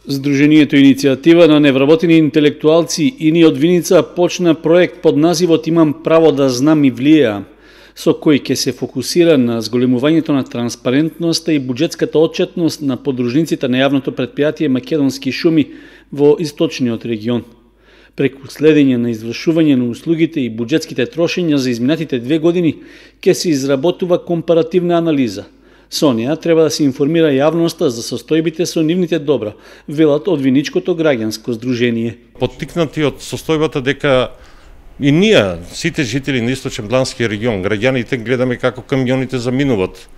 Сдруженијето Иницијатива на невработени интелектуалци ини од Виница почна проект под називот "Имам право да знам и влијеам", со кој ќе се фокусира на зголемувањето на транспарентноста и буџетската отчетност на подружниците на јавното претпријатие Македонски шуми во источниот регион. Преку следење на извршување на услугите и буџетските трошења за изминатите 2 години ќе се изработува компаративна анализа. Со неа треба да се информира јавноста за состојбите со нивните добра, велат од Виничкото граѓанско здружение. Поттикнати од состојбата дека и ние, сите жители на Источен Блански регион, граѓаните гледаме како камионите заминуваат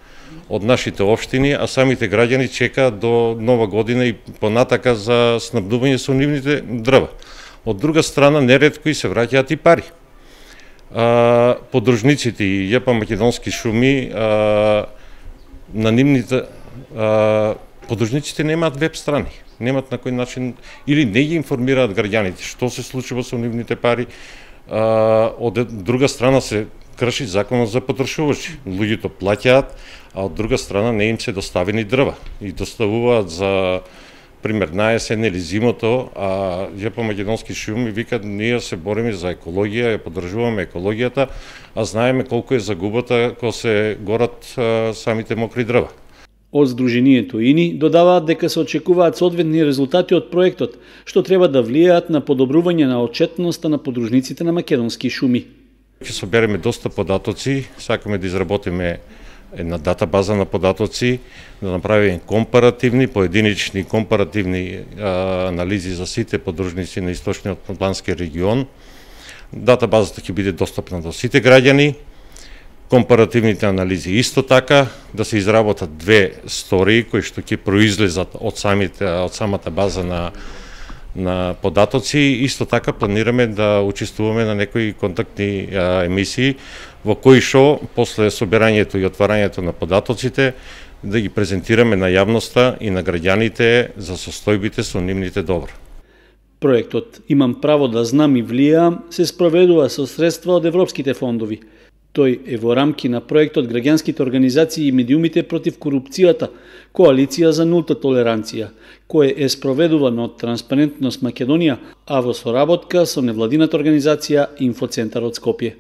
од нашите општини, а самите граѓани чекаат до Нова година и понатака за снабдување со нивните дрва. Од друга страна, неретко и се враќаат и пари. Подружниците и ЈП Македонски шуми на нивните подружниците немаат веб страни, немаат на кој начин или не ги информираат граѓаните што се случува со нивните пари. Од друга страна се крши законот за потрошувачи. Луѓето плаќаат, а од друга страна не им се доставени дрва и доставуваат за пример на есен или зимото, а ЈП Македонски шуми викат ние се бориме за екологија, ја поддржуваме екологијата, а знаеме колку е загубата кога се горат самите мокри дрва. Од Сдруженијето ИНИ додаваат дека се очекуваат соодветни резултати од проектот, што треба да влијаат на подобрување на отчетноста на подружниците на Македонски шуми. Ќе собереме доста податоци, сакаме да изработиме една датабаза на податоци, да направиме компаративни, поединични компаративни анализи за сите подружници на Источниот Плански регион. Датабазата ќе биде достапна до сите граѓани. Компаративните анализи исто така, да се изработат 2 стории кои што ќе произлезат од самата база на податоци. Исто така планираме да учествуваме на некои контактни емисии во кои што после собирањето и отварањето на податоците да ги презентираме на јавноста и на граѓаните за состојбите со нивните добра. Проектот "Имам право да знам и влијаам" се спроведува со средства од европските фондови. Тој е во рамки на проектот Граѓанските организации и медиумите против корупцијата, Коалиција за нулта толеранција, кој е спроведувано од Транспарентност Македонија, а во соработка со невладината организација Инфоцентарот Скопје.